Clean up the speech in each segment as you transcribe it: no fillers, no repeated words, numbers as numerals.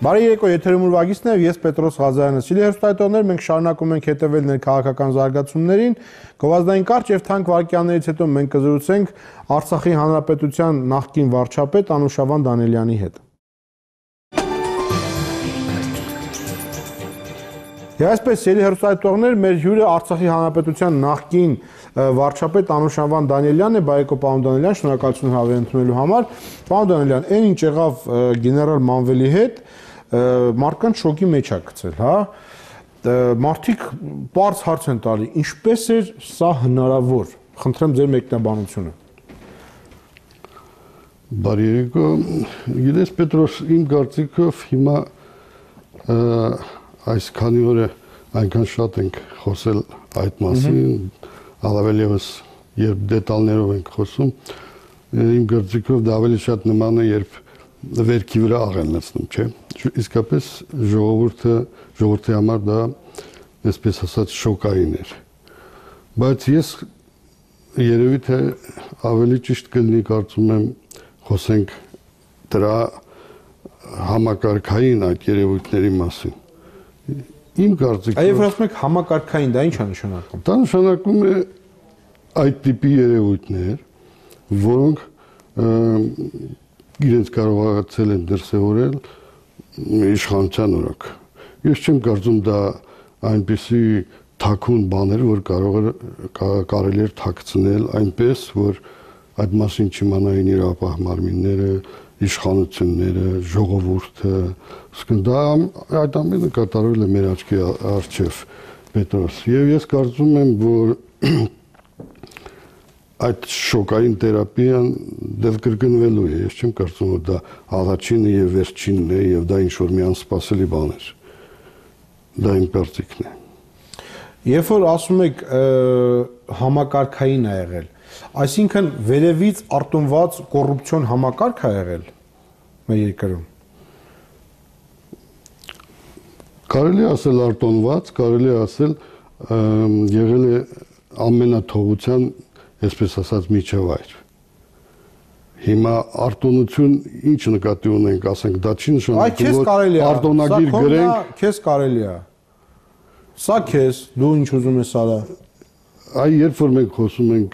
Բարի երեկո, եթերում ուրվագիցն է, ես Պետրոս Ղազարյանը։ Սիրելի հեռուստադիտողներ, մենք շարունակում ենք հետևել ներքաղաքական զարգացումներին։ Գովազդային կարճ եւ թանկ վարքյաններից հետո մենք կզրուցենք Արցախի Հանրապետության նախկին վարչապետ Անուշավան Դանիելյանի հետ։ Այսպես, սիրելի հեռուստադիտողներ, մեր հյուրը Արցախի Հանրապետության նախկին վարչապետ Անուշավան Դանիելյանն է, բարեկո պարոն Դանիելյան, շնորհակալություն հավեր ընդունելու համար։ Պարոն Դանիելյան, այն ինչ եղավ գեներալ Մանվելի հետ, մարդկանց շոկի մեջ է գցել, հա։ Մարդիկ պարզ հարց են տալի, ինչպես էր սա հնարավոր։ Խնդրեմ ձեր մեկնաբանությունը։ Բարի երեկո, գիտես Պետրոս, իմ կարծիքով հիմա այս քանի օր այնքան շատ ենք խոսել այդ մասին, առավել ևս երբ դետալներով ենք խոսում, իմ կարծիքով դա ավելի շատ նման է, երբ վերքի վրա աղեն լցնում, չէ։ Իսկապես ժողովրդի համար դա, այսպես ասած, շոկային էր։ Բայց ես երևի թե ավելի ճիշտ կլինի, կարծում եմ, խոսենք դրա համակարգային այդ երևույթների մասին։ Իմ կարծիքով Այո, ասում եք համակարգային, դա ի՞նչ է նշանակում։ Դա նշանակում է այդ տիպի երևույթներ, որոնք իրենց կարողացել են դրսևորել իշխանության օրոք։ Ես չեմ կարծում դա այնպիսի թաքուն բաներ, որ կարելի էր թաքցնել այնպես, որ այդ մասին չիմանային իրավապահ մարմինները, իշխանությունները, ժողովուրդը, դա այդ ամենը կատարվել է մեր աչքի առջև, Պետրոս։ Եվ ես կարծում եմ, որ այդ շոկային թերապիան դեռ կրկնվելու է, ես չեմ կարծում, որ դա առաջինը եւ վերջինն է եւ դա ինչ-որ մի անսպասելի բան էր։ Դա իմ կարծիքն է։ Երբ որ ասում եք համակարգային է եղել, այսինքն վերևից արտոնված կոռուպցիոն համակարգ է եղել մեր երկրում։ Կարելի ասել արտոնված, կարելի ասել եղել է ամենաթողության, այսպես ասած, միջավայր։ Հիմա արտոնություն ինչ նկատի ունենք, ասենք, դա չի նշանակում, որ արտոնագիր գրենք, քեզ կարելի է։ Սա քեզ, դու ինչ ուզում ես արա։ Այ երբ որ մենք խոսում ենք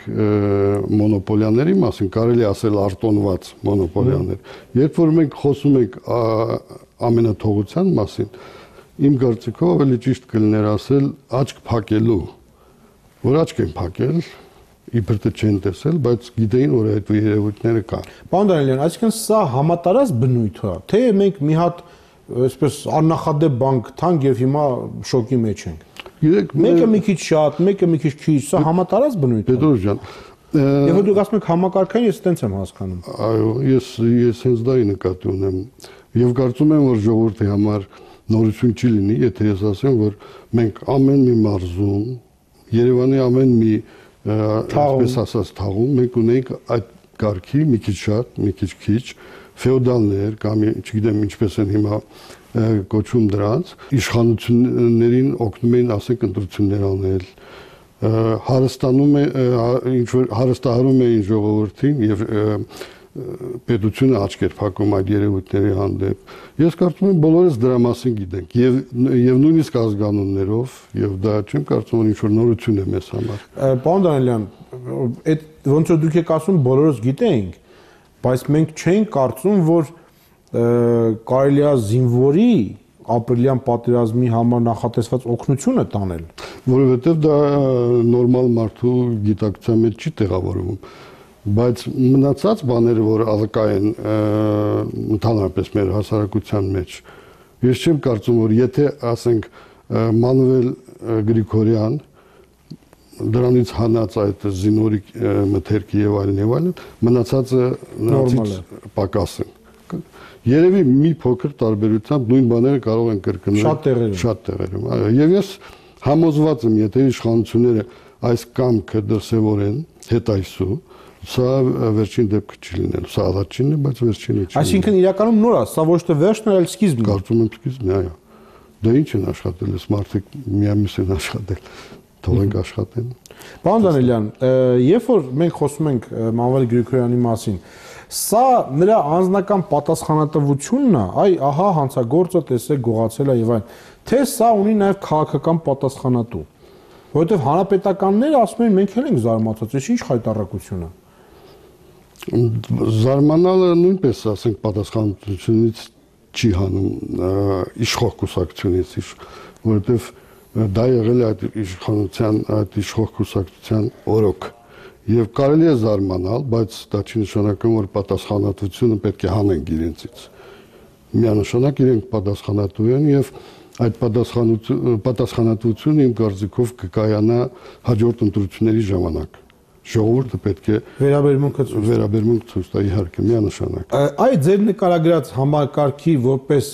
մոնոպոլիաների մասին, կարելի ասել արտոնված մոնոպոլիաներ։ Երբ որ մենք խոսում ենք ամենաթողության մասին, իմ կարծիքով ավելի ճիշտ կլիներ ասել աչք փակելու, որ աչք են փակել, իբր թե չեն տեսել, բայց գիտեին, որ այդ երևույթները կան։ Պարոն Դանիելյան, այսինքն սա համատարած բնույթ է, թե մենք մի հատ այսպես աննախադեպ բան գտանք եւ հիմա շոկի մեջ ենք։ Գիտեք, մեկը մի քիչ շատ, մեկը մի քիչ քիչ, սա համատարած բնույթ է։ Պետրոս ջան, Եվ դուք ասում եք համակարգային, ես այդպես եմ հասկանում։ Այո, ես հենց դա նկատի ունեմ։ Եւ կարծում եմ, որ ժողովրդի համար նորություն չի լինի, եթե ես ասեմ, որ մենք ամեն մի մարզում, Երևանի ամեն մի այսպես ասած թաղում մենք ունենք այդ կարգի մի քիչ շատ, մի քիչ քիչ ֆեոդալներ կամ չգիտեմ ինչպես են հիմա կոչում դրանց, իշխանություններին օգնում էին, ասենք, ընտրություններ անել, հարստահարում էին ժողովրդին եւ պետությունը աչքեր փակում այդ երևույթների հանդեպ։ Ես կարծում եմ բոլորս դրա մասին գիտենք եւ նույնիսկ ազգանուններով եւ դա չեմ կարծում որ ինչ-որ նորություն է մեզ համար։ Պարոն Դանիելյան, այդ ոնց որ դուք եք ասում բոլորս գիտենք, բայց մենք չենք կարծում, որ կարելի է զինվորի ապրիլյան պատերազմի համար նախատեսված օգնությունը տանել, որովհետեւ դա նորմալ մարդու գիտակցության մեջ չի տեղավորվում։ Բայց մնացած բաները, որ ալկա են ընդհանրապես մեր հասարակության մեջ, ես չեմ կարծում, որ եթե ասենք Մանուել Գրիգորյան դրանից հանած այդ զինվորի մթերքի եւ այլն, մնացածը նրանցից պակաս են։ Երևի մի փոքր տարբերությամբ նույն բաները կարող են կրկնել շատ տեղերում։ Այո, եւ ես համոզված եմ, եթե իշխանությունները այս կամքը դրսևորեն հետայսու, սա վերջին դեպքը չի լինելու, սա առաջինն է, բայց վերջինը չի։ Այսինքն իրականում նոր է, սա ոչ թե վերջն է, այլ սկիզբն է։ Կարծում եմ սկիզբն է, այո։ Դա ինչ են աշխատել, այս մարդիկ միամիտ են աշխատել, թողենք աշխատեն։ Պարոն Դանիելյան, երբ որ մենք խոսում ենք Մանվել Գրիգորյանի մասին, Սա նրա անձնական պատասխանատվությունն է, այ ահա հանցագործը տեսեք գողացել է եւ այլն, թե սա ունի նաեւ քաղաքական պատասխանատու, որովհետեւ հանրապետականները ասում են մենք էլ ենք զարմացած, ինչ խայտառակություն է։ Զարմանալը նույնպես ասենք պատասխանատվությունից չի հանում իշխող կուսակցությունից, որովհետեւ դա եղել է այդ իշխանության, այդ իշխող կուսակցության օրոք։ Եվ կարելի է զարմանալ, բայց դա չի նշանակում, որ պատասխանատվությունը պետք է հանենք իրենցից։ Միանշանակ իրենք պատասխանատու են եւ այդ պատասխանատվությունը իմ կարծիքով կկայանա հաջորդ ընտրությունների ժամանակ։ Ժողովուրդը պետք է վերաբերմունք ցույց տա, իհարկե, միանշանակ։ Այդ ձեր նկարագրած համակարգի որպես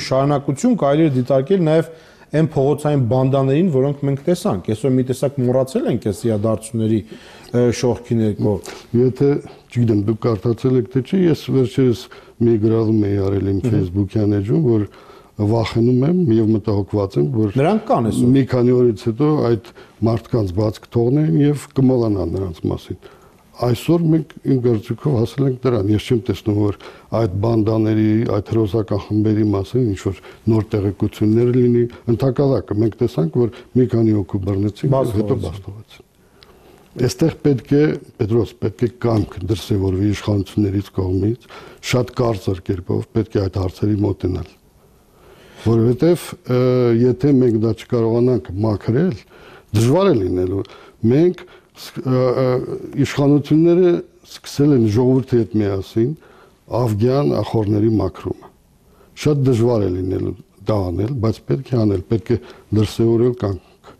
շարունակություն կարելի է դիտարկել նաեւ այն փողոցային բանդաներին, որոնք մենք տեսանք, այսօր մի տեսակ մոռացել ենք այս իրադարձությունների շողքի ներքո։ Եթե, չգիտեմ, դուք կարդացել եք թե չէ, ես վերջերս մի գրառում էի արել իմ Facebook-յան էջում, որ վախենում եմ եւ մտահոգված եմ, որ նրանք կան այսօր։ Մի քանի օրից հետո այդ մարդկանց բաց կթողնեն եւ կմոռանան նրանց մասին։ Այսօր մենք իմ կարծիքով հասել ենք դրան։ Ես չեմ տեսնում, որ այդ բանդաների, այդ հերոսական խմբերի մասին ինչ որ նոր տեղեկություններ լինի։ Ընդհակառակը մենք տեսանք, որ մի քանի հոգու բռնեցին, հետո բաստովացին։ Այստեղ պետք է, Պետրոս, պետք է կամք դրսևորվի իշխանություններից կողմից, շատ կարծր կերպով պետք է այդ հարցերի մոտենալ։ Որովհետև եթե մենք դա չկարողանանք մաքրել, դժվար է լինելու։ Մենք իշխանությունները սկսել են ժողովրդի հետ միասին Աֆգան ախորների մաքրումը։ Շատ դժվար է լինելու դա անել, բայց պետք է անել, պետք է դրսևորել կամք։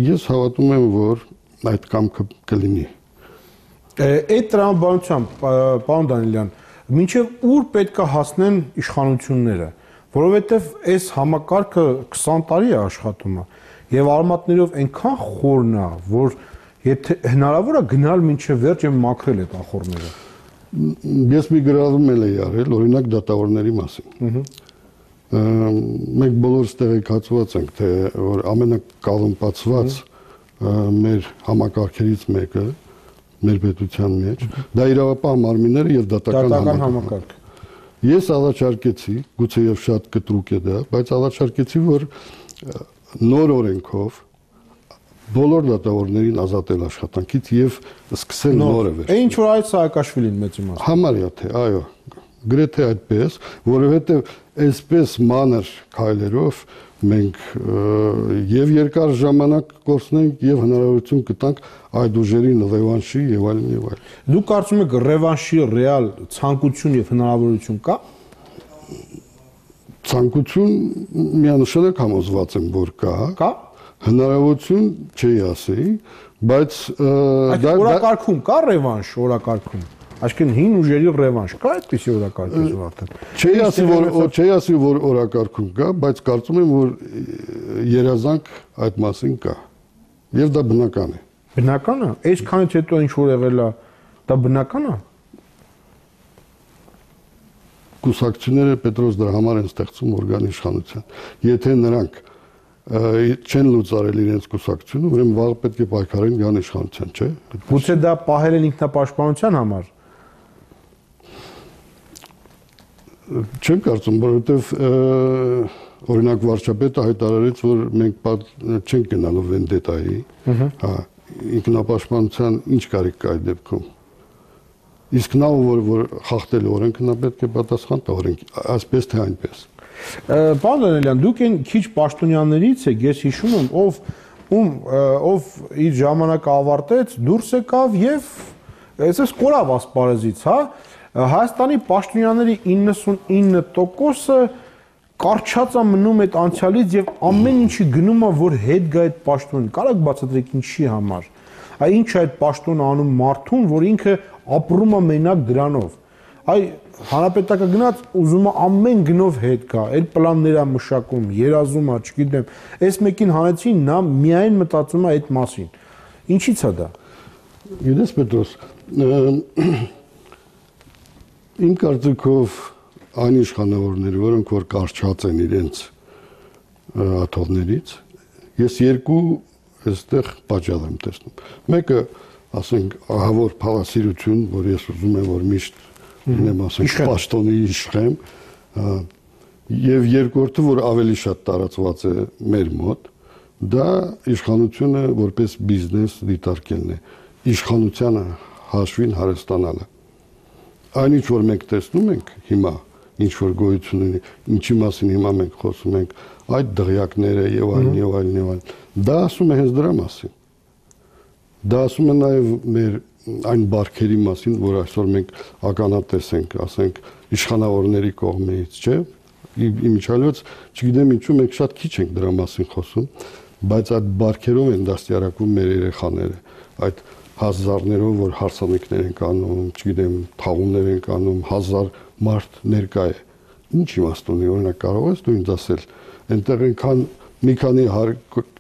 Ես հավատում եմ, որ այդ կամքը կլինի։ Այդ տրամաբանությամբ, պարոն Դանիելյան, մինչև ուր պետք է հասնեն իշխանությունները, որովհետև այս համակարգը 20 տարի է աշխատում եւ արմատներով այնքան խորն է, որ եթե հնարավոր է գնալ մինչև վերջ եւ մաքրել այդ ախորները։ Ես մի գրառում էի արել, օրինակ դատավորների մասին։ Մենք բոլորս տեղեկացված ենք, թե որ ամենակալմպացված մեր համակարգերից մեկը մեր պետության մեջ դա իրավապահ մարմինները եւ դատական համակարգ։ Ես առաջարկեցի, գուցե եւ շատ կտրուկ է դա, բայց առաջարկեցի, որ նոր օրենքով բոլոր դատավորներին ազատել աշխատանքից եւ սկսել նորը վերջ։ Ինչ որ այդ Սաակաշվիլին մեծ իմաստ։ Համարյա թե, այո, գրեթե այդպես, որովհետեւ այսպես մանր քայլերով մենք եւ երկար ժամանակ կորցնենք եւ հնարավորություն կտանք այդ ուժերին ռևանշի եւ այլն եւ այլն։ Դուք կարծում եք ռևանշի ռեալ ցանկություն եւ հնարավորություն կա։ Ցանկություն միանշանակ համոզված եմ, որ կա։ Հնարավորություն չի ասի, բայց դա օրակարգում կա ռևանշ օրակարգում։ Այսինքն հին ուժերի ռևանշ կա այդպիսի օրակարգ արդեն։ Չի ասի, որ օրակարգում կա, բայց կարծում եմ, որ երազանք այդ մասին կա։ Եվ դա բնական է։ Բնական է։ Այսքանից հետո ինչ որ եղել է, դա բնական է։ Կուսակցությունները Պետրոս դրա համար են ստեղծում օրգան իշխանության։ Եթե նրանք չեն լուծարել իրենց կուսակցությունը, ուրեմն վաղ պետք է պայքարեն գան իշխանության, չէ՞։ Գուցե դա պահել են ինքնապաշտպանության համար։ Չեմ կարծում, որովհետև օրինակ վարչապետը հայտարարեց, որ մենք չենք գնալու վենդետայի, հա, ինքնապաշտպանության ինչ կարիք կա այդ դեպքում։ Իսկ նա որ խախտել օրենքը, նա պետք է պատասխան տա օրենքի, այսպես թե այնպես։ Պարոն Դանիելյան, դուք այն քիչ պաշտոնյաներից եք, ես հիշում եմ, ով իր ժամանակը ավարտեց, դուրս եկավ եւ այսպես կորավ ասպարեզից, հա։ Հայաստանի պաշտոնյաների 99%-ը կարճած է մնում այդ անցյալից եւ ամեն ինչի գնում է, որ հետ գա այդ պաշտոնին։ Կարո՞ղ բացատրեք ինչի համար։ Այ ինչ է այդ պաշտոնը անում մարդուն, որ ինքը ապրում է մենակ դրանով։ Այ հանրապետակը գնաց ուզում է ամեն գնով հետ գա, այդ պլաններ է մշակում, երազում է, չգիտեմ։ Այս մեկին հանեցին, նա միայն մտածում է այդ մասին։ Ինչի՞ց է դա։ Գիտես Պետրոս, իմ կարծիքով այն իշխանավորները, որոնք որ կարճած են իրենց աթոռներից, ես երկու այստեղ պատճառ եմ տեսնում։ Մեկը ասենք ահավոր փալասիրություն, որ ես ուզում եմ որ միշտ լինեմ, ասենք պաշտոնի իշխեմ, եւ երկրորդը, որ ավելի շատ տարածված է մեր մոտ, դա իշխանությունը որպես բիզնես դիտարկելն է, իշխանությանը հաշվին հարստանալը։ Այն ինչ որ մենք տեսնում ենք հիմա, ինչ որ գոյություն ունի, ինչի մասին հիմա մենք խոսում ենք, այդ դղյակները եւ այլն, դա ասում է հենց դրա մասին։ Դա ասում է նաեւ մեր այն բարքերի մասին, որ այսօր մենք ականատես ենք, ասենք իշխանավորների կողմից, չէ՞։ Իմիջիալոց, չգիտեմ ինչու մենք շատ քիչ ենք դրա մասին խոսում, բայց այդ բարքերով են դաստիարակվում մեր երեխաները, այդ հազարներով, որ հարսանիքներ են կանում, չգիտեմ, թաղումներ են կանում, 1000 մարդ ներկա է։ Ինչ իմաստ ունի, օրինակ կարող ես դու ինձ ասել, այնտեղ այնքան մի քանի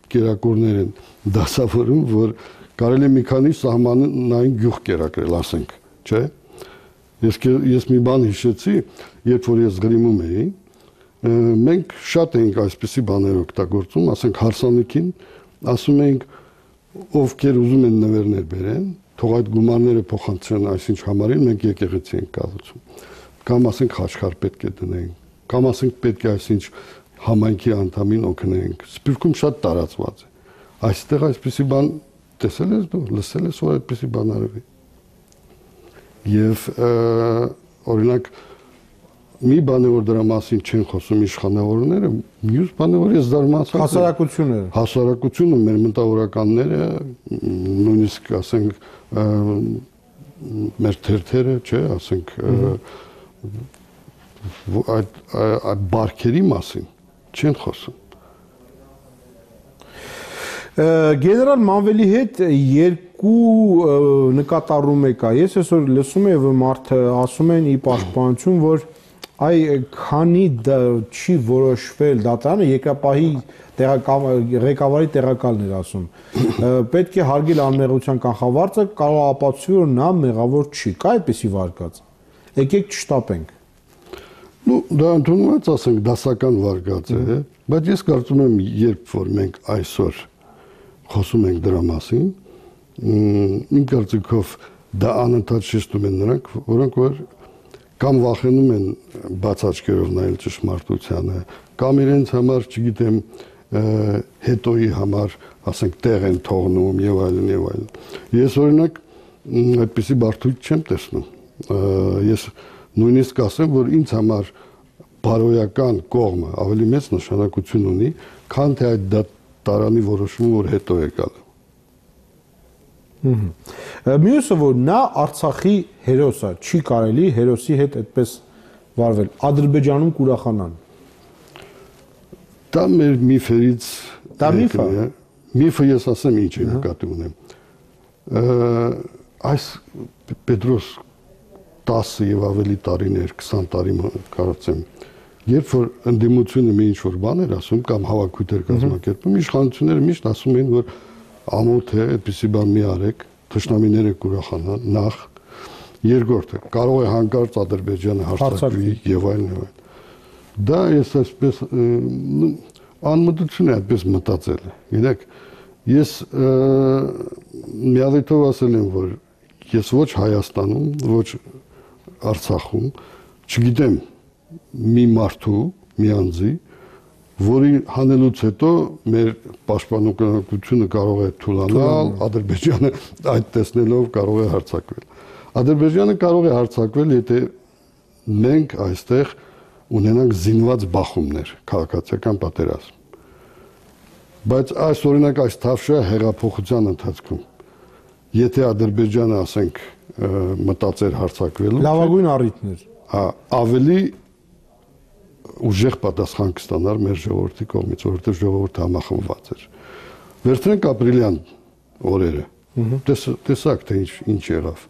կերակուրներ են դասավորում, որ կարելի է մի քանի սահմանային գյուղ կերակրել, ասենք, չէ՞։ Ես մի բան հիշեցի, երբ որ ես գրիմում էի, մենք շատ էինք այսպիսի բաներ օգտագործում, ասենք հարսանիքին, ասում էինք ովքեր ուզում են նվերներ բերեն, թող այդ գումարները փոխանցեն այսինչ համարին, մենք եկեղեցի ենք կառուցում։ Կամ ասենք խաչքար պետք է դնենք, կամ ասենք պետք է այսինչ համայնքի անդամին օգնենք։ Սփյուռքում շատ տարածված է։ Այստեղ այսպիսի բան տեսել ես դու, լսել ես, որ այդպիսի բան արվի։ Եվ օրինակ մի բան է որ դրա մասին չեն խոսում իշխանավորները, մյուս բան է որ ես զարմացած եմ։ Հասարակությունները։ Հասարակությունը, մեր մտավորականները, նույնիսկ ասենք մեր թերթերը, չէ, ասենք այդ բարքերի մասին չեն խոսում։ Գեներալ Մանվելի հետ երկու նկատառում եկա։ Ես այսօր լսում եմ մարդը ասում են ի պաշտպանություն, որ այ քանի չի որոշվել դատարանը երկրապահի ղեկավարի տեղակալն էր ասում։ Պետք է հարգել անմեղության կանխավարձը, կարող ապացուցի որ նա մեղավոր չի։ Կա այդպիսի վարկած։ Եկեք չշտապենք։ Ну, դա ընդունված ասենք դասական վարկած է, բայց ես կարծում եմ, երբ որ մենք այսօր խոսում ենք դրա մասին, իմ կարծիքով դա անընդհատ շեշտում են նրանք, որոնք որ կամ վախենում են բաց աչքերով նայել ճշմարտությանը, կամ իրենց համար, չգիտեմ, հետոյի համար, ասենք, տեղ են թողնում եւ այլն եւ այլն։ Ես օրինակ այդպիսի բարդույթ չեմ տեսնում։ Ես նույնիսկ ասեմ, որ ինձ համար բարոյական կողմը ավելի մեծ նշանակություն ունի, քան թե այդ տարանի որոշումը, որ հետո է գալու։ Մյուսը որ նա Արցախի հերոս է, չի կարելի հերոսի հետ այդպես վարվել։ Ադրբեջանում կուրախանան։ Դա մեր միֆերից դա միֆ է։ Միֆը ես ասեմ ինչ է նկատի ունեմ։ Այս Պետրոս 10 եւ ավելի տարիներ, 20 տարի կարծեմ, երբ որ ընդդիմությունը մի ինչ որ բան էր ասում կամ հավաքույթեր կազմակերպում, իշխանությունները միշտ ասում էին, որ ամոթ է, այդպիսի բան մի արեք, թշնամիները կուրախանան, նախ, երկրորդը, կարող է հանկարծ Ադրբեջանը հարձակվի եւ այլն եւ այլն։ Դա ես այսպես անմտություն է այդպես մտածել։ Գիտեք, ես միադիտով ասել եմ, որ ես ոչ Հայաստանում, ոչ Արցախում չգիտեմ մի մարդու, մի անձի, որի հանելուց հետո մեր պաշտպանությունը կարող է թուլանալ, Ադրբեջանը այդ տեսնելով կարող է հարձակվել։ Ադրբեջանը կարող է հարձակվել, եթե մենք այստեղ ունենանք զինված բախումներ, քաղաքացիական պատերազմ։ Բայց այս օրինակ այս թավշյա հեղափոխության ընթացքում, եթե Ադրբեջանը, ասենք, մտածեր հարձակվելու, լավագույն առիթներ, ավելի ուժեղ պատասխան կստանար մեր ժողովրդի կողմից, որովհետև ժողովուրդը համախմբված էր։ Վերցնենք ապրիլյան օրերը։ Տեսակ թե ինչ եղավ։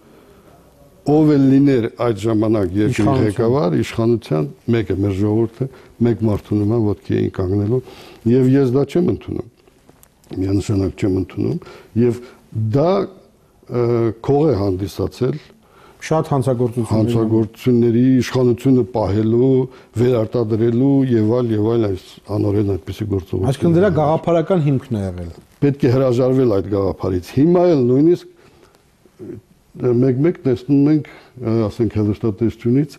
Ով էլ լիներ այդ ժամանակ երկրի ղեկավար, իշխանության մեկը մեր ժողովուրդը մեկ մարդու նման ոտքի էին կանգնելու, եւ ես դա չեմ ընդունում։ Միանշանակ չեմ ընդունում, եւ դա քող է հանդիսացել շատ հանցագործությունների իշխանությունը պահելու, վերարտադրելու եւ այլ այս անօրեն այդպիսի գործողություններ։ Այսինքն դրա գաղափարական հիմքն է եղել։ Պետք է հրաժարվել այդ գաղափարից։ Հիմա էլ նույնիսկ մեկ տեսնում ենք, ասենք հեռուստատեսությունից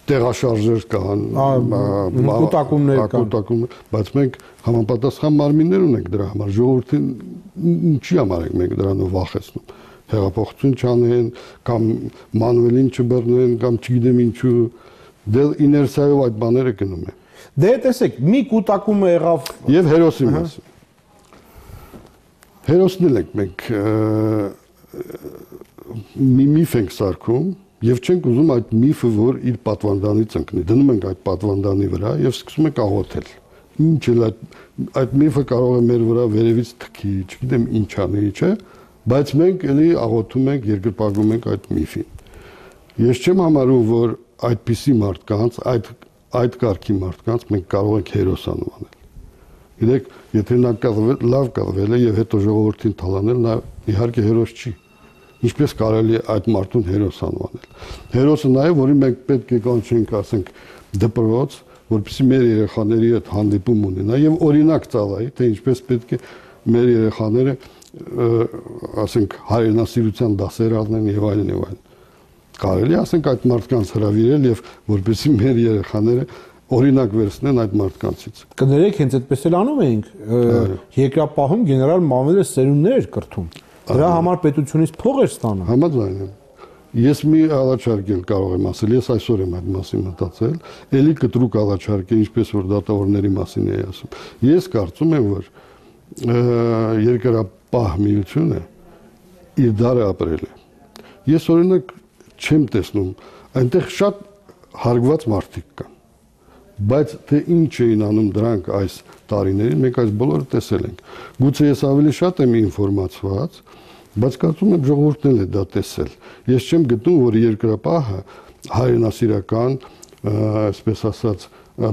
տեղաշարժեր կան, կուտակումներ, բայց մենք համապատասխան մարմիններ ունենք դրա համար, ժողովրդին ինչի համար ենք մենք դրանով վախեցնում, հեղափոխություն չանեն, կամ մանուելին չբռնեն, կամ չգիտեմ ինչու, դե իներցիայով այդ բաները գնում են։ Դե տեսեք, մի կուտակումը եղավ եւ հերոսի մասին։ Հերոսն ենք մենք մի միֆ ենք սարքում եւ չենք ուզում այդ միֆը, որ իր պատվանդանից ընկնի։ Դնում ենք այդ պատվանդանի վրա եւ սկսում ենք աղոթել։ Ինչ էլ այդ միֆը կարող է մեր վրա վերևից թքի, չգիտեմ ինչ անի, չէ՞, բայց մենք էլի աղոթում ենք, երկրպագում ենք այդ միֆին։ Ես չեմ համարում, որ այդպիսի մարդկանց, այդ կարգի մարդկանց մենք կարող ենք հերոս անվանել։ Գիտեք, եթե նա լավ կռվել է եւ հետո ժողովրդին թալանել, նա իհարկե հերոս չի։ Ինչպես կարելի է այդ մարդուն հերոս անվանել։ Հերոսը նաեւ, որին մենք պետք է կանչենք, ասենք, դպրոց, որպեսզի մեր երեխաների հետ հանդիպում ունենա եւ օրինակ ծավալի, թե ինչպես պետք է մեր երեխաները, ասենք, հայրենասիրության դասեր առնեն եւ այլն եւ այլն։ Կարելի է, ասենք, այդ մարդկանց հրավիրել եւ որպեսզի մեր երեխաները օրինակ վերցնեն այդ մարդկանցից։ Կներեք, հենց այդպես էլ անում էինք։ Երկրապահում գեներալ Մանվելը սերունդներ էր կրթում։ Դրա համար պետությունից փող էր ստանում։ Համաձայն եմ։ Ես մի առաջարկել կարող եմ ասել, ես այսօր եմ այդ մասին մտածել, ելի կտրուկ առաջարկել, ինչպես որ դատավորների մասին էի ասում։ Ես կարծում եմ, որ երկրապահ միությունը իր դարը ապրել է։ Ես օրինակ չեմ տեսնում, այնտեղ շատ հարգված մարդիկ կան։ Բայց թե ինչ էին անում դրանք այս տարիներին, մենք այս բոլորը տեսել ենք։ Գուցե ես ավելի շատ եմ ինֆորմացված, բայց կարծում եմ ժողովուրդն էլ է դա տեսել։ Ես չեմ գտնում, որ երկրապահը հայրենասիրական, այսպես ասած,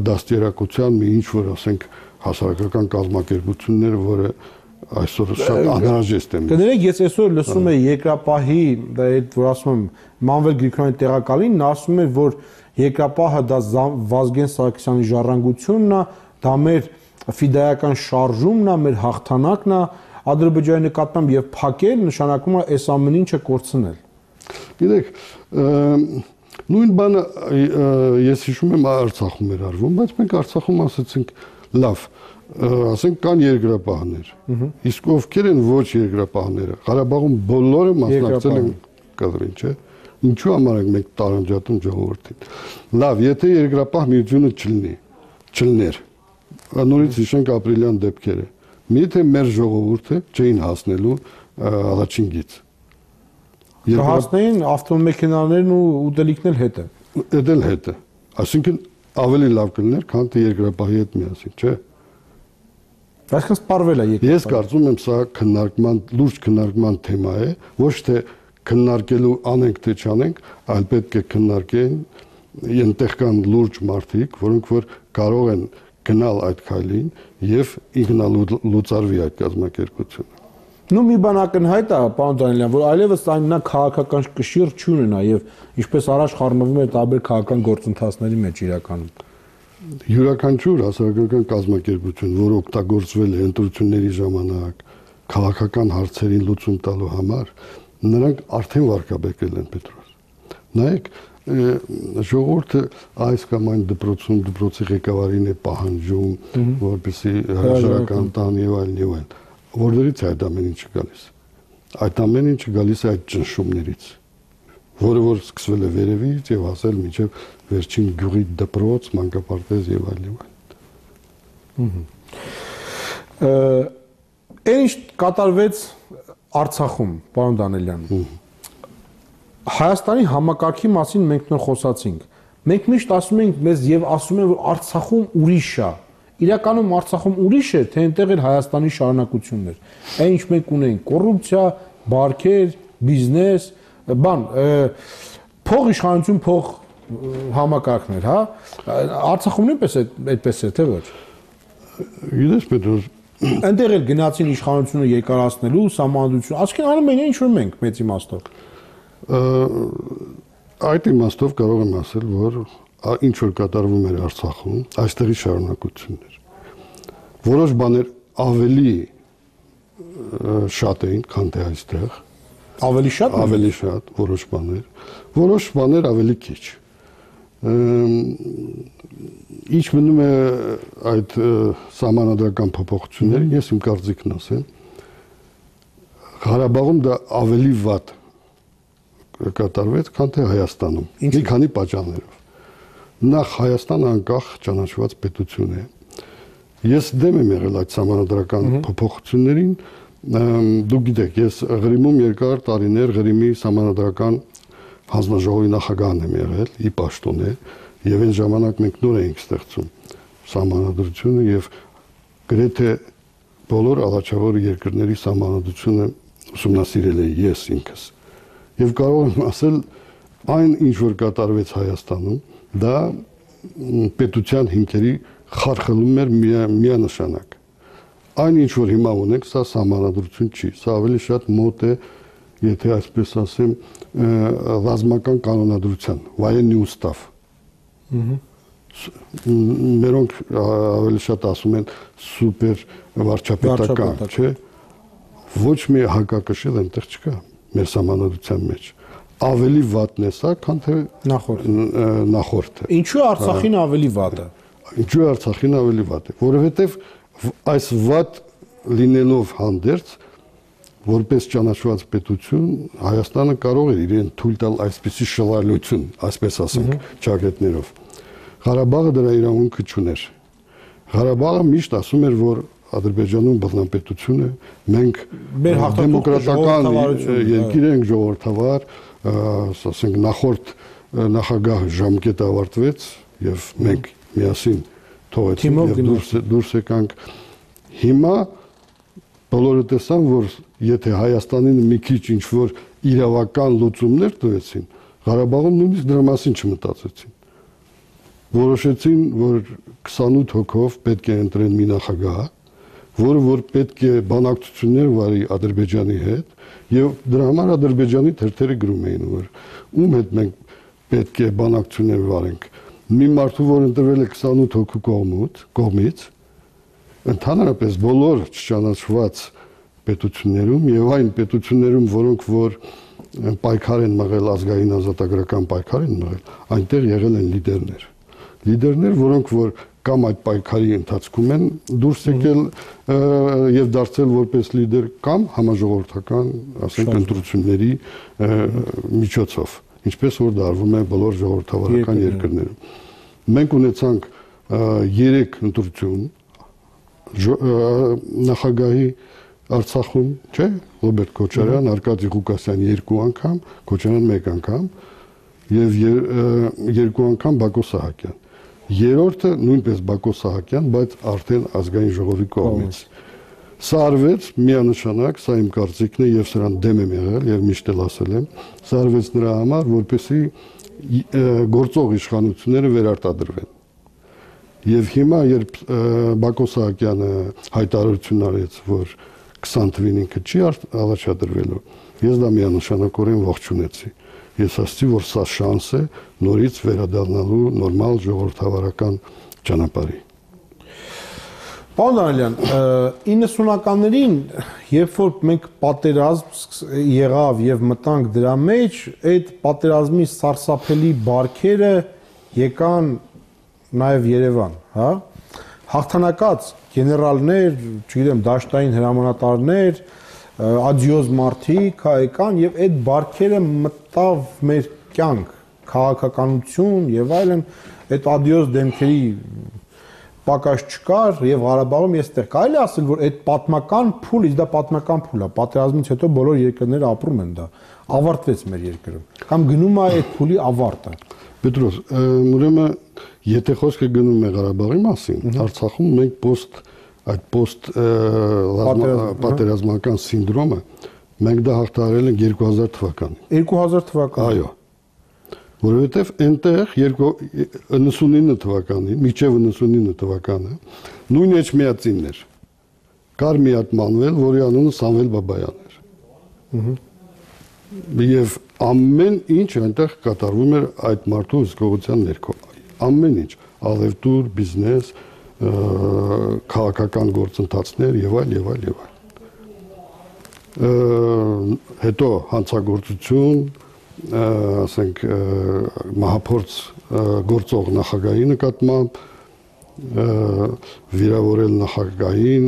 դաստիարակության մի ինչ որ, ասենք, հասարակական կազմակերպություններ, որը այսօր շատ անհրաժեշտ է։ Կներեք, ես այսօր լսում եմ երկրապահի, դա այդ որ ասում եմ, Մանվել Գրիգորյանի տեղակալին, նա ասում է, որ երկրապահը դա Վազգեն Սարգսյանի ժառանգությունն է, դա մեր ֆիդայական շարժումն է, մեր հաղթանակն է, Ադրբեջանի նկատմամբ եւ փակել նշանակում է այս ամեն ինչը կորցնել։ Գիտեք, նույն բանը ես հիշում եմ Արցախում էր արվում, բայց մենք Արցախում ասացինք լավ, ասենք կան երկրապահներ։ Իսկ ովքեր են ոչ երկրապահները։ Ղարաբաղում բոլորը մասնակցել են կադրին, չէ՞։ Ինչու համար ենք մենք տարանջատում ժողովրդին։ Լավ, եթե երկրապահ միությունը չլներ, նորից հիշենք ապրիլյան դեպքերը։ Միթե մեր ժողովուրդը չէին հասնելու առաջին գիծ։ Հասնեին ավտոմեքենաներն ու ուտելիքն էլ հետը։ Էլ հետը։ Այսինքն ավելի լավ կլիներ, քան թե երկրապահի հետ միասին, չէ՞։ Այսինքն սպառվել է երկրապահը։ Ես կարծում եմ սա լուրջ քննարկման թեմա է, ոչ թե քննարկելու անենք թե չանենք, այլ պետք է քննարկեն այնտեղ կան լուրջ մարդիկ, որոնք որ կարող են գնալ այդ քայլին եւ ինքնալուծարվի այդ կազմակերպությունը։ Նու մի բան ակնհայտ է, պարոն Դանիելյան, որ այլևս այնա քաղաքական կշիռ չունենա եւ ինչպես առաջ խառնվում է տարբեր քաղաքական գործընթացների մեջ իրականում։ Յուրաքանչյուր հասարակական կազմակերպություն, որ օգտագործվել է ընտրությունների ժամանակ քաղաքական հարցերին լուծում տալու համար, նրանք արդեն վարկաբեկել են Պետրոս։ Նայեք, ժողովուրդը այս կամ այն դպրոցում դպրոցի ղեկավարին է պահանջում, որպեսզի հրաժարական տան եւ այլն եւ այլն։ Որտեղից է այդ ամեն ինչը գալիս։ Այդ ամեն ինչը գալիս է այդ ճնշումներից, որը որ սկսվել է վերևից եւ հասել մինչեւ վերջին գյուղի դպրոց, մանկապարտեզ եւ այլն։ Ինչ կատարվեց Արցախում, պարոն Դանիելյան։ Հայաստանի համակարգի մասին մենք նոր խոսացինք։ Մենք միշտ ասում ենք մեզ եւ ասում են, որ Արցախում ուրիշ է։ Իրականում Արցախում ուրիշ է, թե այնտեղ էլ Հայաստանի շարունակությունն էր։ Այն ինչ մենք ունենք՝ կոռուպցիա, բարքեր, բիզնես, փող իշխանություն, փող համակարգներ, հա։ Արցախում նույնպես այդպես է, թե ոչ։ Գիտես, Պետրոս, այնտեղ էլ գնացին իշխանությունը երկարացնելու, սահմանադրություն, ասկին անում են ինչ որ մենք մեծ իմաստով։ Այդ իմաստով կարող եմ ասել, որ ինչ որ կատարվում էր Արցախում, այստեղի շարունակությունն էր։ Որոշ բաներ ավելի շատ էին, քան թե այստեղ, Ավելի շատ, որոշ բաներ ավելի քիչ։ Ինչ մնում է այդ սահմանադրական փոփոխությունները, ես իմ կարծիքն ասեմ, Ղարաբաղում դա ավելի վատ կատարվեց, քան թե Հայաստանում։ Մի քանի պատճառներով։ Նախ Հայաստանը անկախ ճանաչված պետություն է։ Ես դեմ եմ եղել այդ սահմանադրական փոփոխություններին, դուք գիտեք, ես Ղրիմում երկար տարիներ Ղրիմի սահմանադրական հանձնաժողովի նախագահն եմ եղել, ի պաշտոնե, եւ այն ժամանակ մենք նոր էինք ստեղծում սահմանադրությունը եւ գրեթե բոլոր ալաչավոր երկրների սահմանադրությունը ուսումնասիրել էի ես ինքս։ Եվ կարող եմ ասել, այն ինչ որ կատարվեց Հայաստանում, դա պետության հիմքերի խարխլում էր միանշանակ։ Այն ինչ որ հիմա ունենք, սա սահմանադրություն չի, սա ավելի շատ մոտ է, եթե այսպես ասեմ, ռազմական կանոնադրության, военный устав։ Մերոնք ավելի շատ ասում են սուպեր վարչապետական, չէ՞։ Ոչ մի հակակշիռ այնտեղ չկա մեր սահմանադրության մեջ։ Ավելի վատն է սա, քան թե նախորդը։ Ինչու Արցախին ավելի վատ է։ Ինչու Արցախին ավելի վատ է, որովհետև այս վատ լինելով հանդերձ, որպես ճանաչված պետություն, Հայաստանը կարող է իրեն թույլ տալ այսպիսի շռայլություն, այսպես ասենք, ճակատներով։ Ղարաբաղը դրա իրավունքը չուներ։ Ղարաբաղը միշտ ասում էր, որ Ադրբեջանում բռնապետություն է, մենք դեմոկրատական երկիր ենք, ժողովրդավար, ասենք նախորդ նախագահ ժամկետը ավարտվեց եւ մենք միասին թողեցինք եւ դուրս եկանք։ Հիմա բոլորը տեսան, որ եթե Հայաստանին մի քիչ ինչ որ իրավական լուծումներ տվեցին, Ղարաբաղում նույնիսկ դրա մասին չմտածեցին։ Որոշեցին, որ 28 հոգով պետք է ընտրեն մի նախագահ, որը որ պետք է բանակցություններ վարի Ադրբեջանի հետ, եւ դրա համար Ադրբեջանի թերթերը գրում էին, որ ում հետ մենք պետք է բանակցություններ վարենք։ Մի մարդու, որ ընտրվել է 28 հոգու կողմից, ընդհանրապես բոլոր չճանաչված պետություններում եւ այն պետություններում, որոնք որ պայքար են մղել, ազգային ազատագրական պայքար են մղել, այնտեղ եղել են լիդերներ, որոնք որ կամ այդ պայքարի ընթացքում են դուրս եկել եւ դարձել որպես լիդեր կամ համաժողովրդական, ասենք, ընտրությունների միջոցով, ինչպես որ դարվում է բոլոր ժողովրդավարական երկրներում։ Մենք ունեցանք 3 ընտրություն նախագահի Արցախում, չէ՞, Ռոբերտ Քոչարյան, Արկադի Ղուկասյան 2 անգամ, Քոչարյան 1 անգամ եւ 2 անգամ Բակո Սահակյան։ Երրորդը նույնպես Բակո Սահակյան, բայց արդեն ազգային ժողովի կողմից։ Սա արվեց միանշանակ, սա իմ կարծիքն է եւ սրան դեմ եմ եղել եւ միշտ էլ ասել եմ, սա արվեց նրա համար, որպեսզի գործող իշխանությունները վերարտադրվեն։ Եվ հիմա երբ Բակո Սահակյանը հայտարարություն արեց, որ 20 թվին ինքը չի առաջադրվելու, ես դա միանշանակորեն ողջունեցի։ Ես ասացի, որ սա շանս է նորից վերադառնալու նորմալ ժողովրդավարական ճանապարհի։ Պարոն Դանիելյան, 90-ականներին, երբ որ մենք պատերազմ եղավ եւ մտանք դրա մեջ, այդ պատերազմի սարսափելի բարքերը եկան նաեւ Երևան, հա? Հաղթանակած գեներալներ, չգիտեմ, դաշտային հրամանատարներ, ադիոզ մարդիկ եկան եւ այդ բարքերը մտավ մեր կյանք, քաղաքականություն եւ այլն, այդ ադիոզ դեմքերի պակաս չկար եւ Ղարաբաղում ես տեղ կարելի ասել, որ այդ պատմական փուլ, իսկ դա պատմական փուլ է, պատերազմից հետո բոլոր երկրները ապրում են դա, ավարտվեց մեր երկրում, կամ գնում է այդ փուլի ավարտը։ Պետրոս, ուրեմն եթե խոսքը գնում է Ղարաբաղի մասին, Արցախում մենք այդ պատերազմական սինդրոմը մենք դա հաղթահարել ենք 2000 թվականին։ 2000 թվականին։ Այո։ Որովհետև այնտեղ 99 թվականին, մինչև 99 թվականը նույն էջմիածինն էր։ Կար մի հատ մանվել, որի անունը Սամվել Բաբայան էր։ Եվ ամեն ինչ այնտեղ կատարվում էր այդ մարդու հսկողության ներքո։ Ամեն ինչ, ալևտուր, բիզնես, քաղաքական գործընթացներ եւ այլ եւ այլ եւ այլ։ հետո հանցագործություն, ասենք մահափորձ գործող նախագահի նկատմամբ, վիրավորել նախագահին,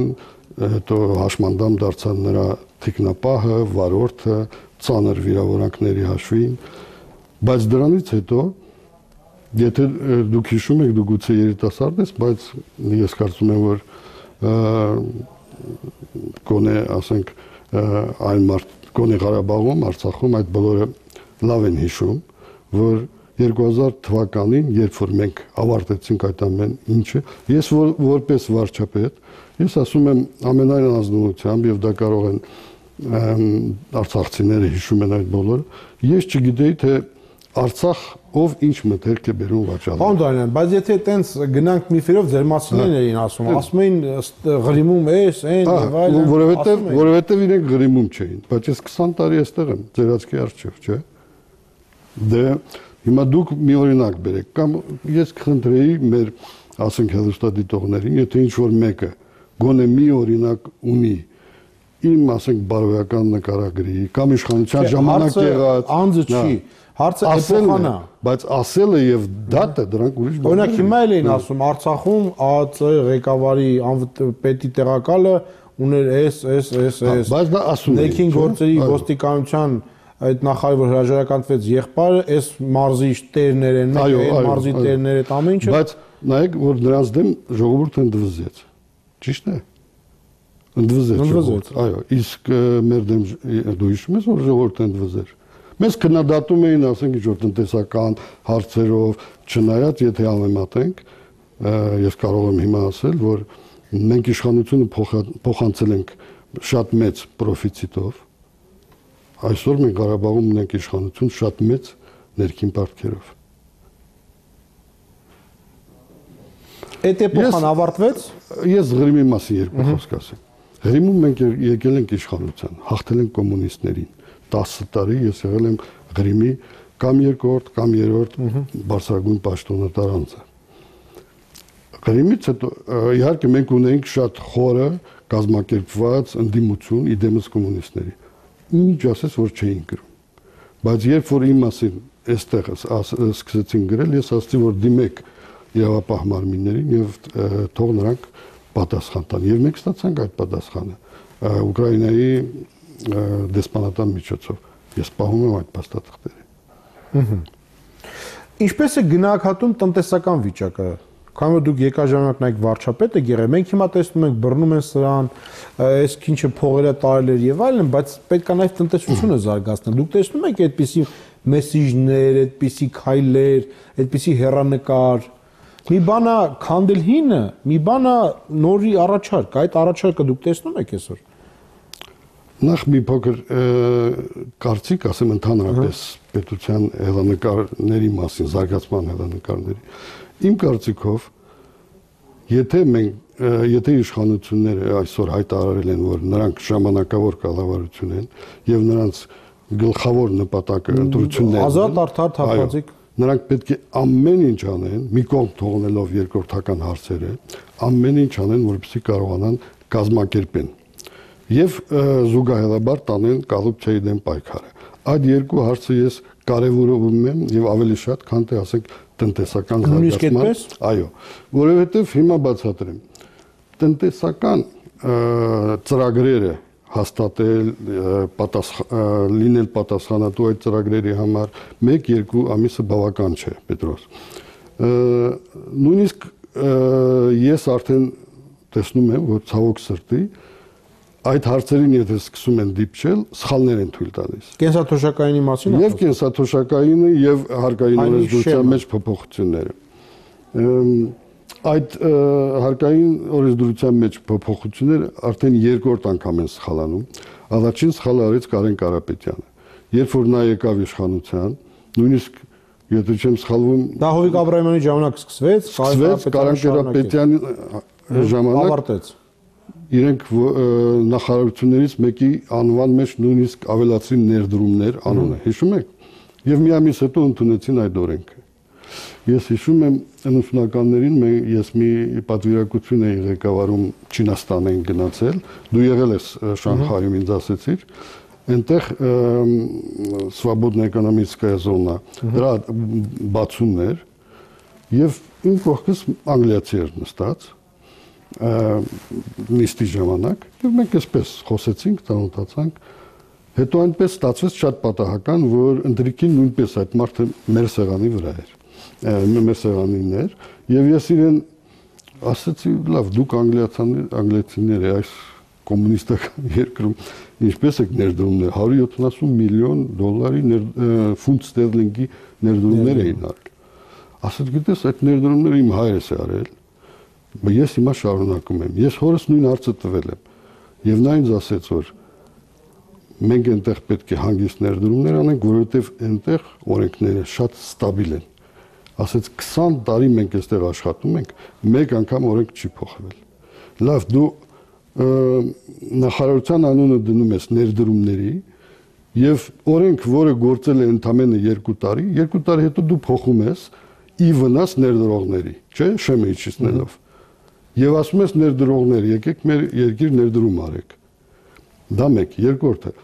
հետո հաշմանդամ դարձան նրա թիկնապահը, վարորդը, ծանր վիրավորանքների հաշվին, բայց դրանից հետո եթե դուք հիշում եք, դու գուցե երիտասարդ ես, բայց ես կարծում եմ, որ գոնե, ասենք, գոնե Ղարաբաղում, Արցախում այդ բոլորը լավ են հիշում, որ 2000 թվականին, երբ որ մենք ավարտեցինք այդ ամեն ինչը, ես որպես վարչապետ, ես ասում եմ ամենայն ազնվությամբ, եւ դա կարող են արցախցիները հիշում են այդ բոլորը, ես չգիտեի, թե Արցախ ով ինչ մտերք է բերում վաճառել։ Պարոն Դանիելյան, բայց եթե այտենց գնանք միֆերով ձեր մասիններն էին ասում էին ղրիմում էս, այն եւ այլն, որովհետեւ իրենք ղրիմում չէին, բայց ես 20 տարի այստեղ եմ, ձեր աչքի առջև, չէ՞։ Դե հիմա դուք մի օրինակ բերեք, կամ ես կխնդրեի մեր, ասենք, հեռուստադիտողներին, եթե ինչ որ մեկը գոնե մի օրինակ ունի իմ, ասենք, բարոյական նկարագրի կամ իշխանության ժամանակ եղած անձը չի, հարցը էպոխան է, բայց ասելը եւ դատը դրանք ուրիշ բան են։ Օրինակ հիմա էլ էին ասում Արցախում ԱԱԾ ղեկավարի պետի տեղակալը ուներ այս, բայց դա ասում են։ Ներքին գործերի ոստիկանության այդ նախարարը որ հրաժարականտվեց եղբայրը, այս մարզի տերներ են, այն մարզի տերները, այդ ամեն ինչը։ Բայց նայեք, որ նրանց դեմ ժողովուրդը ընդվզեց։ Ճիշտ է։ Ընդվզեց։ Այո, իսկ մեր դեմ դու հիշում ես, որ ժողովուրդը ընդվզեր։ Մեզ քննադատում էին, ասենք, ինչ-որ տնտեսական հարցերով, չնայած եթե համեմատենք, ես կարող եմ հիմա ասել, որ մենք իշխանությունը փոխանցել ենք շատ մեծ պրոֆիցիտով, այսօր մենք Ղարաբաղում ունենք իշխանություն շատ մեծ ներքին պարտքերով։ Այդ էպոխան ավարտվեց։ Ես Ղրիմի մասին երկու խոսք ասեմ։ Ղրիմում մենք եկել ենք իշխանության, հաղթել ենք կոմունիստներին։ 10 տարի ես եղել եմ Ղրիմի կամ երկրորդ կամ երրորդ բարձրագույն պաշտոնատար անձը։ Ղրիմից հետո իհարկե մենք ունեինք շատ խորը կազմակերպված ընդդիմություն իդեմս կոմունիստների։ Ինչ ասես, որ չէին գրում։ Բայց երբ որ իմ մասին այստեղ սկսեցին գրել, ես ասացի, որ դիմեք իրավապահ մարմիններին եւ թող նրանք պատասխան տան։ Եվ մենք ստացանք այդ պատասխանը Ուկրաինայի դեսպանատան միջոցով։ Ես պահում եմ այդ փաստաթղթերը։ Ինչպես է գնահատում տնտեսական վիճակը։ Քանի որ դուք եկաժամանակ նայեք վարչապետը գերե, մենք հիմա տեսնում ենք բռնում են սրան, այս քինչը փողերը տարել եւ այլն, բայց պետք է նաեւ տնտեսությունը զարգացնել։ Դուք տեսնում եք այդպիսի մեսիջներ, այդպիսի քայլեր, այդպիսի հեռանկար։ Մի բանա քանդել հինը, մի բանա նորի առաջարկ, այդ առաջարկը դուք տեսնում եք այսօր։ Նախ մի փոքր կարծիք ասեմ ընդհանրապես պետության հեռանկարների մասին, զարգացման հեռանկարների։ Իմ կարծիքով, եթե իշխանությունները այսօր հայտարարել են, որ նրանք ժամանակավոր կառավարություն են եւ նրանց գլխավոր նպատակը ընտրություններն են, ազատ արդար թափանցիկ, նրանք պետք է ամեն ինչ անեն, մի կողմ թողնելով երկրորդական հարցերը, ամեն ինչ անեն, որպեսզի կարողանան կազմակերպեն եւ զուգահեռաբար տանեն կոռուպցիայի դեմ պայքարը։ Այդ երկու հարցը ես կարևորում եմ եւ ավելի շատ, քան թե ասենք տնտեսական զարգացման, այո, որովհետեւ հիմա բացատրեմ։ Տնտեսական ծրագրերը հաստատել, լինել պատասխանատու այդ ծրագրերի համար 1-2 ամիսը բավական չէ, Պետրոս։ Նույնիսկ ես արդեն տեսնում եմ, որ ցավոք սրտի այդ հարցերին եթե սկսում են դիպչել, սխալներ են թույլ տալիս։ Կենսաթոշակայինի մասին եւ կենսաթոշակայինը եւ հարկային օրենսդրության մեջ փոփոխությունները։ Այդ հարկային օրենսդրության մեջ փոփոխությունները արդեն երկրորդ անգամ են սխալանում։ Առաջին սխալը արեց Կարեն Կարապետյանը։ Երբ որ նա եկավ իշխանության, նույնիսկ եթե չեմ սխալվում, դա Հովիկ Աբրահամյանի ժամանակ սկսվեց, Կարեն Կարապետյանի ժամանակ ավարտեց։ Իրենք նախարարություններից մեկի անվան մեջ նույնիսկ ավելացրին ներդրումներ անունը, հիշում եք։ Եվ մի ամիս հետո ընդունեցին այդ օրենքը։ Ես հիշում եմ 90-ականներին ես մի պատվիրակություն էի ղեկավարում Չինաստան են գնացել, դու եղել ես Շանհայում ինձ ասեցիր, այնտեղ Свободная экономическая зона, դրա բացումն էր եւ իմ կողքից անգլիացի էր նստած նիստի ժամանակ եւ մենք այսպես խոսեցինք, ծանոթացանք, հետո այնպես ստացվեց շատ պատահական, որ ընտրիկին նույնպես այդ մարդը մեր սեղանի վրա էր, մեր սեղանին էր եւ ես իրեն ասացի, լավ, դուք անգլիացիներ այս կոմունիստական երկրում ինչպես եք ներդրումներ 170 միլիոն դոլարի ֆունտ ստերլինգի ներդրումներ էին արել։ Ասած գիտես, այդ ներդրումները իմ հայրս է արել, բայց ես հիմա շարունակում եմ։ Ես հորս նույն հարցը տվել եմ։ Եվ նա ինձ ասեց, որ մենք այնտեղ պետք է հանգիստ ներդրումներ անենք, որովհետև այնտեղ օրենքները շատ ստաբիլ են։ Ասեց 20 տարի մենք այստեղ աշխատում ենք, մեկ անգամ օրենք չի փոխվել։ Լավ, դու նախարարության անունը դնում ես ներդրումների եւ օրենք, որը գործել է ընդամենը 2 տարի, 2 տարի հետո դու փոխում ես ի վնաս ներդրողների, չէ՞, շեմը իջեցնելով։ Եվ ասում ես ներդրողներ, եկեք մեր երկիր ներդրում արեք։ Դա մեկ, երկրորդը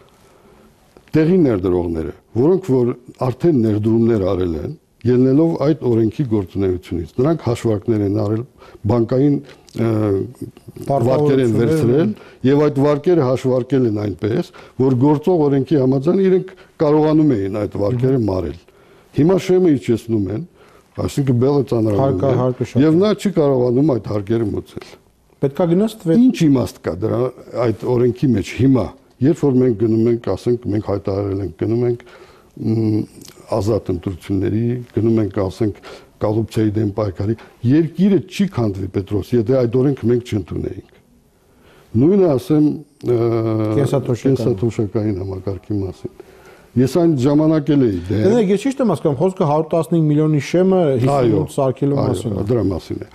տեղի ներդրողները, որոնք որ արդեն ներդրումներ արել են, ելնելով այդ օրենքի գործունեությունից, նրանք հաշվարկներ են արել, բանկային վարկեր են վերցրել եւ այդ վարկերը հաշվարկել են այնպես, որ գործող օրենքի համաձայն իրենք կարողանում էին այդ վարկերը մարել։ Հիմա շեմը իջեցնում են, այսինքն բելը ծանրանում է եւ նա չի կարողանում այդ հարկերը մուծել։ Պետքա գնաս տվել։ Ինչ իմաստ կա դրա այդ օրենքի մեջ հիմա, երբ որ մենք գնում ենք, ասենք մենք հայտարարել ենք գնում ենք ազատ ընտրությունների, գնում ենք, ասենք կոռուպցիայի դեմ պայքարի, երկիրը չի քանդվի Պետրոս, եթե այդ օրենքը մենք չընդունեինք։ Նույնը ասեմ կենսաթոշակային համակարգի մասին։ Ես այն ժամանակ էլ էի դեմ։ Դե ես ճիշտ եմ հասկանում, խոսքը 115 միլիոնի շեմը 58 սարքելու մասին է։ Դրա մասին է։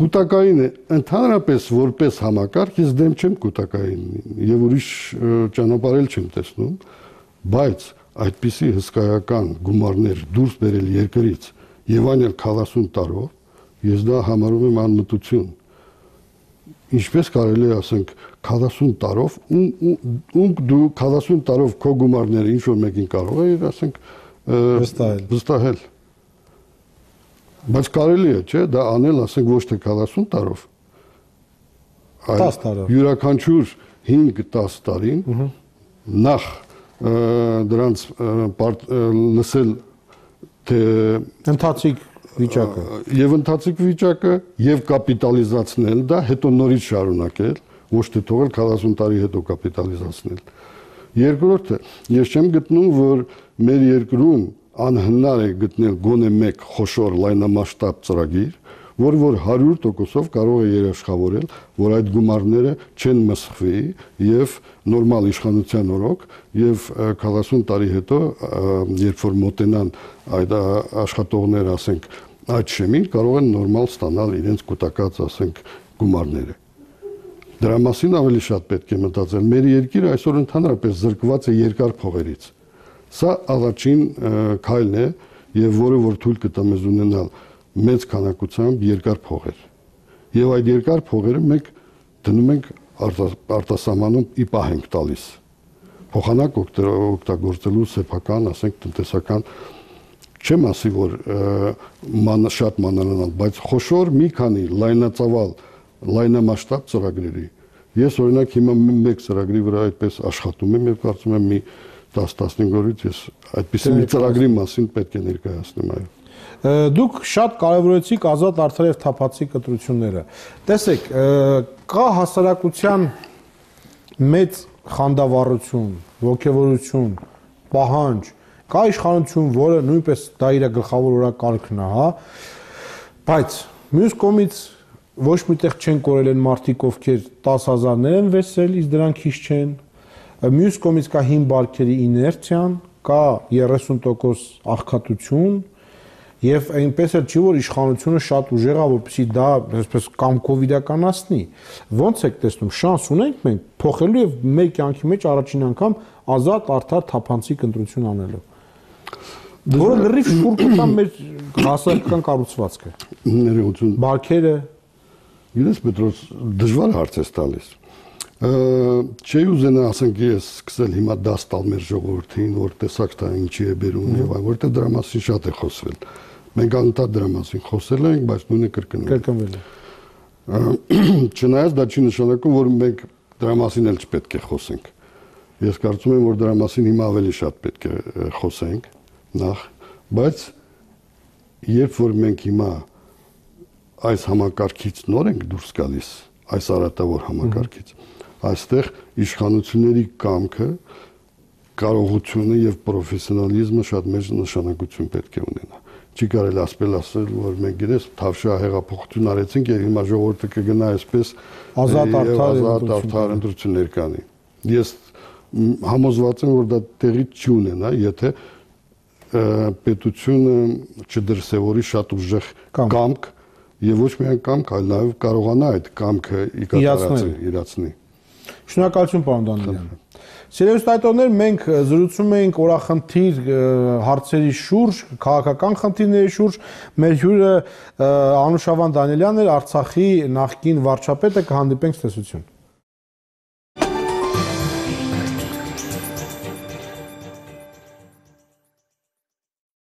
Կուտակային է, ընդհանրապես որպես համակարգ ես դեմ չեմ կուտակայինին եւ ուրիշ ճանապարհ չեմ տեսնում, բայց այդպիսի հսկայական գումարներ դուրս բերել երկրից եւ այն էլ 40 տարով, ես դա համարում եմ անմտություն։ Ինչպես կարելի է ասենք 40 տարով դու 40 տարով քո գումարները ինչ որ մեկին կարող է ասենք վստահել։ Բայց կարելի է, չէ՞, դա անել ասենք ոչ թե 40 տարով, այլ 10 տարով։ Յուրաքանչյուր 5-10 տարին նախ դրանց լսել թե ընթացիկ վիճակը եւ ընթացիկ վիճակը եւ կապիտալիզացնել դա, հետո նորից շարունակել, ոչ թե թողել 40 տարի հետո կապիտալիզացնել։ Երկրորդը, ես չեմ գտնում, որ մեր երկրում անհնար է գտնել գոնե մեկ խոշոր լայնամասշտաբ ծրագիր, որ 100%-ով կարող է երաշխավորել, որ այդ գումարները չեն մսխվի եւ նորմալ իշխանության օրոք եւ 40 տարի հետո, երբ որ մոտենան այդ աշխատողները, ասենք, այդ շեմին, կարող են նորմալ ստանալ իրենց կուտակած, ասենք, գումարները։ Դրա մասին ավելի շատ պետք է մտածել։ Մեր երկիրը այսօր ընդհանրապես զրկված է երկար փողերից։ Սա առաջին քայլն է եւ որը որ թույլ կտա մեզ ունենալ մեծ քանակությամբ երկար փողեր։ Եվ այդ երկար փողերը մենք դնում ենք արտասահմանում ի պահ ենք տալիս։ Փոխանակ օգտագործելու սեփական, ասենք, տնտեսական չեմ ասի, որ շատ մանրանալ, բայց խոշոր մի քանի լայնածավալ, լայնամասշտաբ ծրագրերի։ Ես օրինակ հիմա մեկ ծրագրի վրա այդպես աշխատում եմ եւ կարծում եմ մի 10-15 օրից ես այդպիսի մի ծրագրի մասին պետք է ներկայացնեմ, այո։ Դուք շատ կարևորեցիք ազատ, արդար եւ թափանցիկ ընտրությունները։ Տեսեք, կա հասարակության մեծ խանդավառություն, ոգևորություն, պահանջ, կա իշխանություն, որը նույնպես դա իր գլխավոր օրակարգն է, հա, բայց մյուս կողմից ոչ միտեղ չեն կորել են մարդիկ, ովքեր 10,000-ներ են վեցել, իսկ դրանք քիչ չեն։ Մյուս կողմից կա հին բարքերի իներցիան, կա 30% աղքատություն, եւ այնպես էլ չի, որ իշխանությունը շատ ուժեղ է, որպեսզի դա այսպես կամքով իրականացնի։ Ոնց եք տեսնում, շանս ունենք մենք փոխելու եւ մեր կյանքի մեջ առաջին անգամ ազատ, արդար, թափանցիկ ընտրություն անելու։ Որը լրիվ շուրջ կտա մեր հասարակական կառուցվածքը։ Ներողություն։ Բարքերը։ Իրենց Պետրոս դժվար հարց է տալիս։ Չի ուզենա ասենք ես սկսել հիմա դաս տալ մեր ժողովրդին, որ տեսակ դա ինչի է բերում եւ այլն, որտեղ դրա մասին շատ է խոսվել։ Մենք անընդհատ դրա մասին խոսել ենք, բայց նույնը կրկնվել է։ Չնայած դա չի նշանակում, որ մենք դրա մասին էլ չպետք է խոսենք։ Ես կարծում եմ, որ դրա մասին հիմա ավելի շատ պետք է խոսենք նախ, բայց երբ որ մենք հիմա այս համակարգից նոր ենք դուրս գալիս, այս արատավոր համակարգից, այստեղ իշխանությունների կամքը, կարողությունը եւ պրոֆեսիոնալիզմը շատ մեծ նշանակություն պետք է ունենա։ Չի կարելի ասել, որ մենք գիտես թավշյա հեղափոխություն արեցինք եւ հիմա ժողովուրդը կգնա այսպես ազատ արդար ընտրություններ կանի։ Ես համոզված եմ, որ դա տեղի չի ունենա, եթե պետությունը չդրսևորի շատ ուժեղ կամք եւ ոչ միայն կամք, այլ նաեւ կարողանա այդ կամքը իրացնել։ Շնորհակալություն, պարոն Դանիելյան։ Սիրելի ստայտողներ, մենք զրուցում էինք օրախնդիր հարցերի շուրջ, քաղաքական խնդիրների շուրջ։ Մեր հյուրը Անուշավան Դանիելյանն էր, Արցախի նախկին վարչապետը, կհանդիպենք ցտեսություն։